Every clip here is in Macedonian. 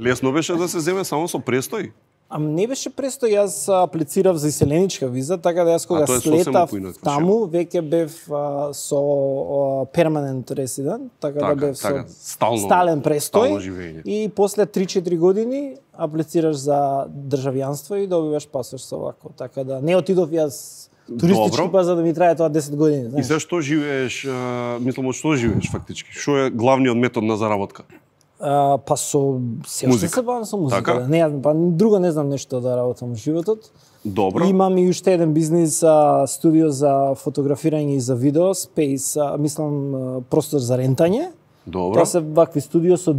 Лесно беше да се земе само со престој? Не беше престој, јас аплицирав за иселеничка виза, така да јас кога слетав таму, веќе бев со перманент резидент, така да бев со стален престој. И после 3-4 години аплицираш за државјанство и добиваш пасош со вако. Така да не отидов јас туристички па за да ми трае тоа 10 години. Знаеш. И за што живееш, мислам, од што живееш фактички? Што е главниот метод на заработка? Па со се бавам со музика. Така? Не, па друго не знам нешто да работам во животот. Добро. Имам и уште еден бизнис, студио за фотографирање и за видео, Space, мислам простор за рентање. Добро. Тоа се вакви студио со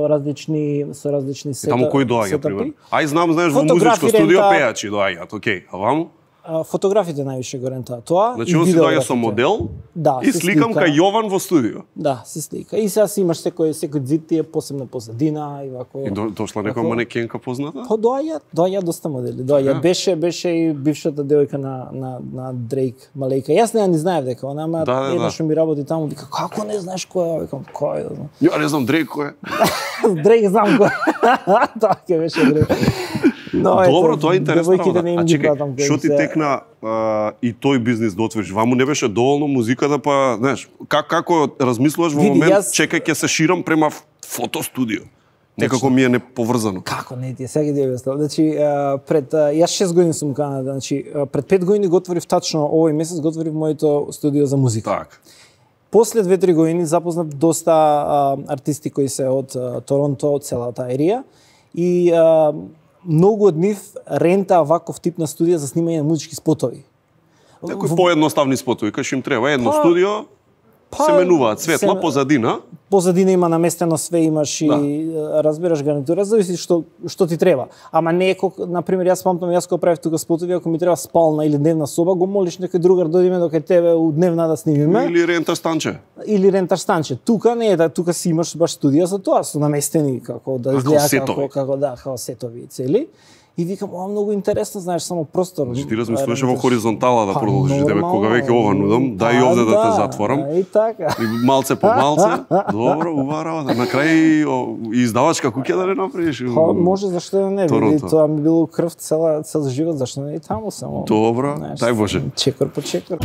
различни сетапи. Таму кој доаѓа пример? Ај знам, знаеш, во музичко студио пејачи доаѓаат, окей. А ваму? Фотографите највише го рентаат тоа. Значи, он си доаѓа со модел и сликам кај Јован во студио. Да, се слика. И сега си имаш секој зид ти е посебна позадина и вако. И дошла некоја манекенка позната? Па доаѓа доста модели. Беше и бившата девојка на Дрейк, Малејка. Јас не знаев дека она, ама една што ми работи таму, вика како не знаеш кој е? Викам кој е? Ја не знам Дрейк кој е. Дрейк знам кој. Тоа ќе беше Дрейк. Добро, тоа е интересно. А чекај, што ти текна и тој бизнис да отвориш? Ваму не беше доволно музиката, па, знаеш, како размислуваш во момент, чекај ќе се ширам према фотостудио? Некако ми е неповрзано. Како не ти, сега ти објаснам. Значи, јас 6 години сум Канада, значи, пред 5 години го отворив тачно, овој месец го отворив моето студио за музика. Так. После 2-3 години запознав доста артисти кои се од Торонто, од целата ерија и многу од нив рента ваков тип на студија за снимање на музички спотови. Некои поедноставни спотови, кај што им треба едно студио, се менуваат светла, позадина. Позадина има наместено све, имаш и разбираш гарнитура, зависи што ти треба. Ама не на пример јас памтам јас кога правев тука спотови, ако ми треба спална или дневна соба, го молиш некој другар дојдеме до кај тебе у дневна да снимиме. Или рентар станче. Тука не е, тука си имаш баш студија за тоа, со наместени како да изгледа како сетови цели. И викам, ова многу интересно, знаеш, само простор. Значи ти размислуваше во хоризонтала да продолжиш, тебе кога веќе ова нудам, дај и овде да те затворам. И така. И малце по малце. Добро, убава работа. На крај издавачка куќа да не направиш. Може, зашто да не би. Тоа ми било крв цел живот, зашто не и таму само. Добро, дај Боже. Чекор по чекор.